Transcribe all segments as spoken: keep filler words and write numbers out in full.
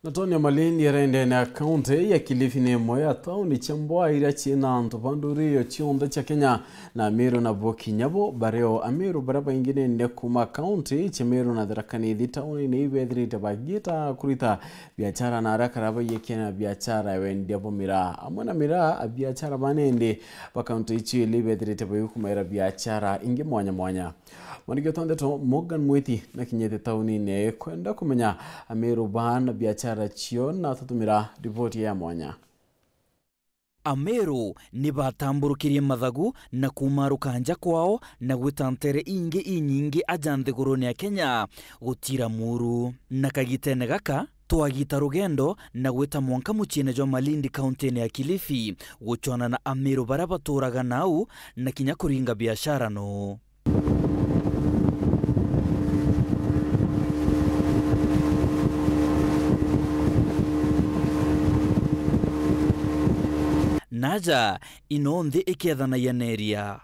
Na Tony Malindi arende na kaunti ya Kilifi ni imwe ya tauni cia mbwa iria ciina antu ba nduri iyo cionthe cia Kenya na Amiru nabo kinya bo bario. Amiru baria baingi nende kuma kaunti cia Meru na Tharaka Nithi tauni ni ibethirite bagiita kurita biachara na aria kara baiyekia na biachara ya wendia bwa miraa. Amwe na miraa, abiachara ba nende ba kaunti icio ili ibethirite bagikumaira biachara ingi mwanya mwanya. Mwandiki wetu wa ndeto Morgan Mwiti nakinyite taunine kwenda kumenya Amiru baa na biachara cio na atutumira riboti ya mwanya. Amiru ni batamburukirie mathagu na kumaruka nja kwao na gwita ntere ingi inyingi aja nthigurune ya Kenya gutira muru. Na kagitene gaka, twagita rugendo na gwita mwanka muciine jwa Malindi, kauntine ya Kilifi, gucwana na Amiru baria baturaga nau na kinya kuringa biashara noo. Naja ino nthi ikethanagia na iria.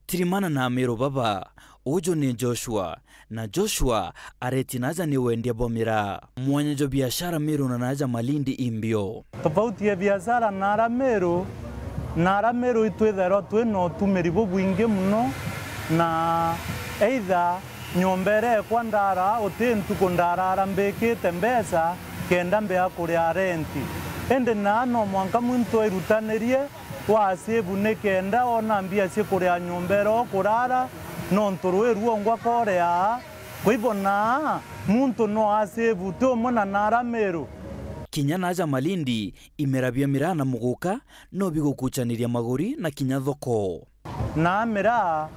Tirimana na Amiru baba, uju ni Joshua, na Joshua areti naja ni wendia bwa miraa. Mwanya jwa biashara Meru na naja Malindi imbio. Tofauti ya biashara na ara Meru, na ara Meru itwithairwa twi na utumiri bubwingi muno, na either nyomba iria ekwa ndara, uti ntuku ndarara mbikite mbeca kenda mbia kuria renti. Indi naa no mwanka muntu airutanirie wa save nikenda ona mbia cia kuria nyomba iria ukurara, nontu rui ruongwa korea. Kwa hivyo naa muntu no a save ti umwe na nara Meru. Kinya naja Malindi, imera bia miraa na muguka no bigukuchaniria maguri na kinya thoko. Na miraa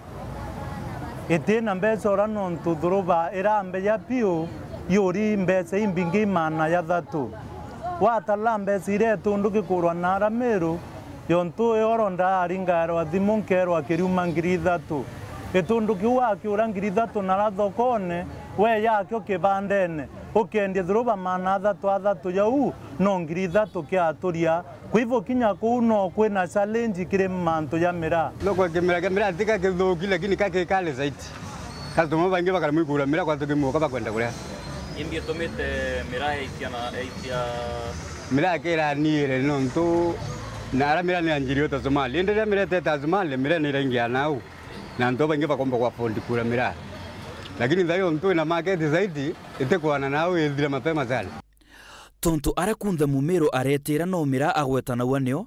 itina mbeca ura nontu thuruba irambeja piu yuri mbeca imbingi maana ya thatu. Watara mbeca iria itundu gikurwa na ara Meru, yontu oro ndaringairwa thimu nkerwa kiriuma ngiri ithatu. Gitundu kiu wakiura ngiri ithatu nara thokone, we yakio kibandene, ukendia thuruba maana athatu athatu jau, no ngiri ithatu kiaturia. Kwa hivyo kinya kuu no kwina challenge kiri mantu ja miraa. Thoko kimera kia miraa tika kithuki, lakini ka kikali zaidi. Customer baingi bakara mwikura miraa kwa tukimuka bakwenda kuria. Imbi itumite miraa yaitia na yaitia. Miraa kiraniire nontu na ara miraa ni anjirio ta Somali. Indi riria miraa itete Somali, miraa ni iraingia nau. Na antu baingi bakomba ku afford kura miraa. Lakini thayo ntu ina market zaidi, itikwana nau ithire mapema sana. Tontu aria kunthe Mumiru aretira no miraa agwetanagua nio,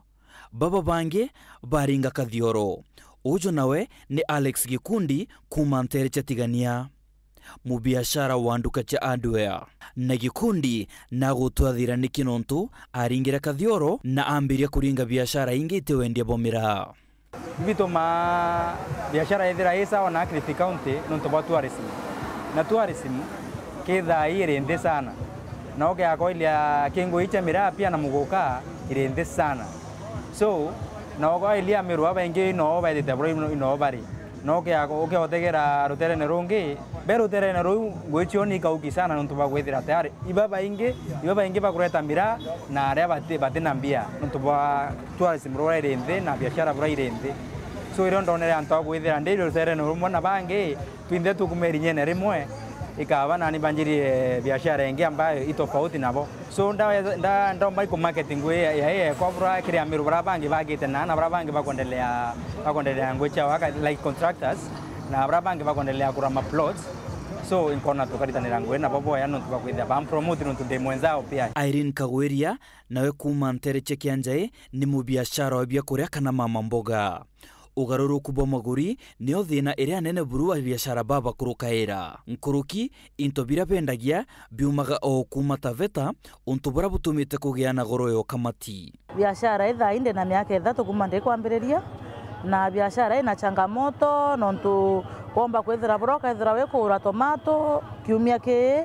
baba bangi baringa Kathioro. Uju nawe ni Alex Gikundi kuuma ntere cia Tigania, mubiashara wa nduka cia hardware. Na Gikundi nagutwathira niki nontu aringire Kathioro na ambiria kuringa biashara ingi iti wendia bwa miraa. Bitumaa biashara yethira i sawa na Kilifi County nontu bwa tourism. Na tourism kithaa iri nthi sana. Na ukeakoilia kingu icha miraa pia na muguka iri nthi sana. So, na ukoilia Amiru babaingi no baithite bura ino bari. Na ukea-, ukeotegera ruterene rungi, be ruterene ruu ngui cio ni ikauki sana nontu bwa kwithira tayari ibabaingi, ibabaingi bakureta miraa na aria bati-, batina mbia nontu bwa tourism ruria iri nthi na biashara buria iri nthi. So irio ndonere antu a kwithira ndi ruterene rumwe na bangi, twinthe tukume irinyene rimwe, ikaba nani banjirie biashara ingi ambayo i tofauti nabo. So, nda-, nda-, ndomba iku market ngui ya, ya, ya ekwa bura kiri Amiru bara bangi bagite na, na bara bangi bakwendelea, bakwendelea ngui ciao aka, like contractors, na bara bangi bakwendelea kura ma plots. So, inkona tukaritanira ngui nabo boya nontu bakwithia bampromote nontu ndi mwenzao pia. Irene Kagwiria, nawe kuuma ntere cia Kianjai, ni mubiashara wa biakuria kana mama mboga. Ugaruruku bwa maguri nio thina iria nene buru wa biashara baba kurukaira. Nkuruki, into biria bendagia biumaga o kuuma Taveta, untu buria butumite kugia na goro ya ukamati. Biashara ii thaa ii ndi na miaka ithatu kuuma ndikwambiriria, na biashara ina changamoto, nontu womba kwithira buria ukethira wikugura tomato kiumia kii,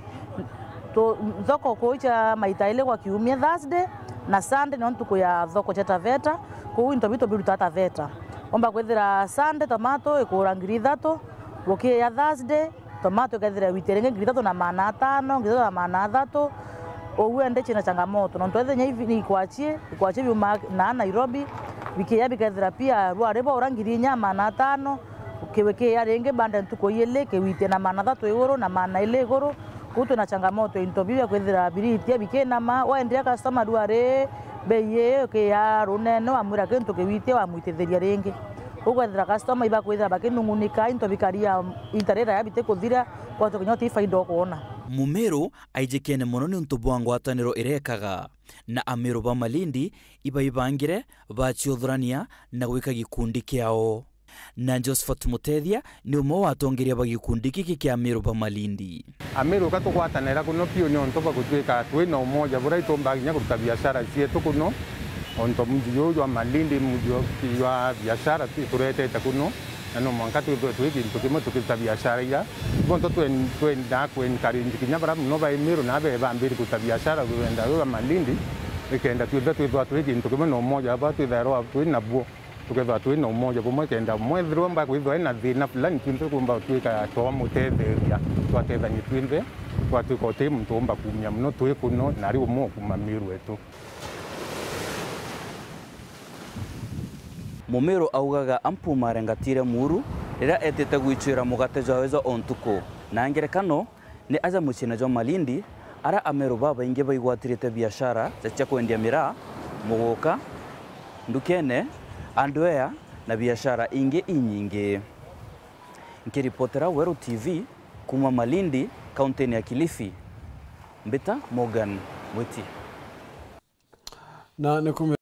tu-, thoko kuu cia maita ili kwa kiumia, Thursday na Sunday nio ntuku ya thoko cia Taveta, kuu into bitu birutaa Taveta. Womba kwithira Sunday tomato ikugura ngiri ithatu, gukiya Thursday tomato ikethira witi ringi ngiri ithatu na maana atano, ngiri ithatu na maana athatu. Uu ende ciina changamoto, nontu ethenya ivi ni ikwachie, ikwachie biuma na Nairobi, bikiya bikethira pia rwari bwa ura ngiri inya maana atano, Kiwi kiia ringi banda ntuku iili, kiwitie na maana thatu iguru na maana ili iguru. Kuu twina changamoto ya into biu bia kwithira biritia bikinama, waendia customer riu ari bei ii kiia runene, wamwira kintu kiwitie, wamwitithiria ringi. Ukwethira customer ibakwithira bakinungunika, into bikaria, into riraya bitikuthira, kwatu kinya uti faida ukwona. Mumiru aijikene mono niuntu bwa ngwataniro irekaga, na Amiru ba Malindi ibaibangire baciuthurania na gwika gikundi kiao. Na Josephat Mutethia ni umwe wa atongeria ba gikundi giki kia Amiru ba Malindi. Amiru ka tugwatanira kuno piu niuntu bwa gutwika twina umoja buria itumbaga kinya kuruta biashara cietu kuno, ontu muji juu jwa Malindi, muji jwa biashara tu-, turetete kuno, na no mwanka twithwe twi gintu kimwe tukiruta biashara ira. Bonthe twen-, twenda ku encourage kinya baria muno ba Amiru na be bambiri kuruta biashara rurenda ruu rwa Malindi, ikenda twithwe twithwa twi gintu kimwe na umoja bwa twithairwa twi nabuo. Tukethirwa twi na umoja bumwe, kenda mwethirwa mbakwithwa ena thina fulani, twinthe tukumba gutwika twamutetheria, twatethania twinthe, twatwika uti muntu umba kumia mono twi kuno, na ari umwe ukuma Miru wetu. Mumiru augaga ampu marengatire muuru riria etite gwicwira mugate jwawe jwa o ntuku, na ngerekano ni aja muciine jwa Malindi, aria Ameru babaingi baigwatirite biashara ja cia kwendia miraa, muguka, ndukene, hardware, na biashara ingi inyingi. Nkiripotera Weru T V kuuma Malindi, kauntini ya Kilifi, mbita Morgan Mwiti. Na ni